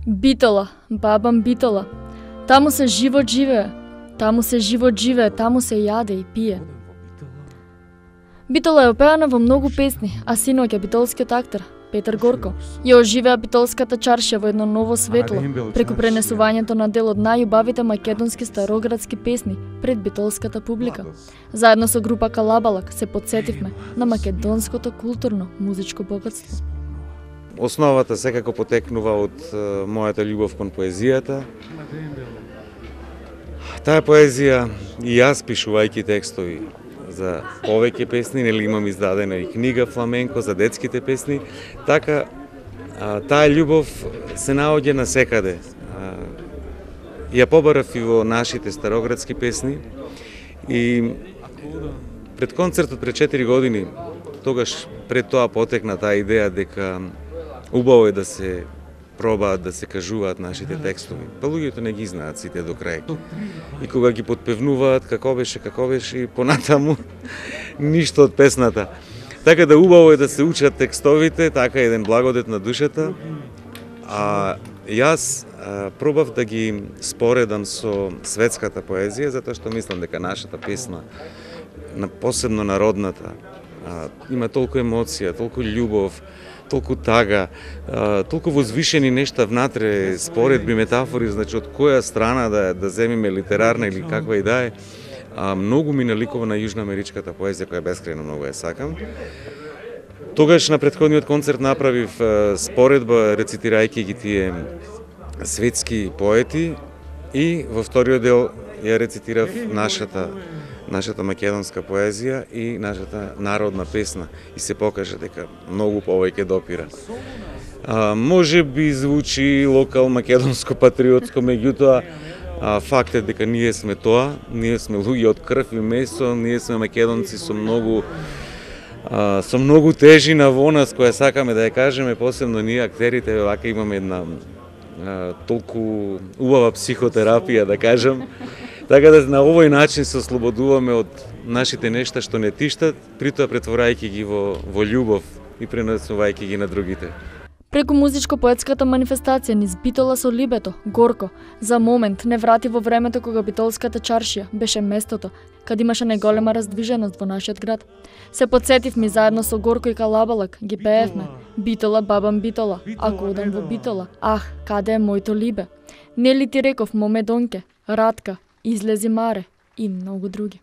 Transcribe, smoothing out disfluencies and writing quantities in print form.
Битола, бабам Битола. Таму се живот живее, таму се живот живее, таму се јаде и пие. Битола е опеана во многу песни, а синоќ е битолскиот актер Петар Горко ја оживеа битолската чаршија во едно ново светло преку пренесувањето на дел од најубавите македонски староградски песни пред битолската публика. Заедно со група Калабалак се потсетивме на македонското културно музичко богатство. Основата секако потекнува од мојата љубов кон поезијата. Таа поезија и јас пишувајќи текстови за повеќе песни, нели имам издадена и книга фламенко за детските песни, така таа љубов се наоѓа насекаде. Ја побарав и во нашите староградски песни и пред концертот пред 4 години, тогаш пред тоа потекна таа идеја дека убаво е да се пробаат да се кажуваат нашите текстови. Па луѓето не ги знаат сите до крај. И кога ги потпевнуваат како беше и понатаму ништо од песната. Така да убаво е да се учат текстовите, така еден благодет на душата. А јас пробав да ги споредам со светската поезија, затоа што мислам дека нашата песна, посебно народната, има толку емоција, толку љубов, толку тага, толку возвишени нешта внатре, споредби, метафори, значи од која страна да земиме литерарна или каква и да е. Многу ми наликува на јужноамеричката поезија која бескрајно многу ја сакам. Тогаш на претходниот концерт направив споредба рецитирајќи ги тие светски поети и во вториот дел ја рецитирав нашата македонска поезија и нашата народна песна и се покажа дека многу повеќе допира. Може би звучи локал македонско патриотско, меѓутоа факт е дека ние сме тоа, ние сме луѓе од крв и месо, ние сме македонци со многу тежина во нас која сакаме да ја кажеме, посебно ние актерите, вака имаме една толку убава психотерапија, да кажам. Така да на овој начин се ослободуваме од нашите нешта што не тиштат, притоа претворајќи ги во љубов и пренесувајќи ги на другите. Преку музичко-поетската манифестација низ Битола со Либето, Горко, за момент не врати во времето кога битолската чаршија беше местото каде имаше најголема раздвиженост во нашиот град. Се потсетивме заедно со Горко и Калабалак, ги пеевме Битола, бабам Битола, ако одам во Битола, ах, каде е моето либе? Нели ти реков, моме Донке, Радка, Излези маре и многу други.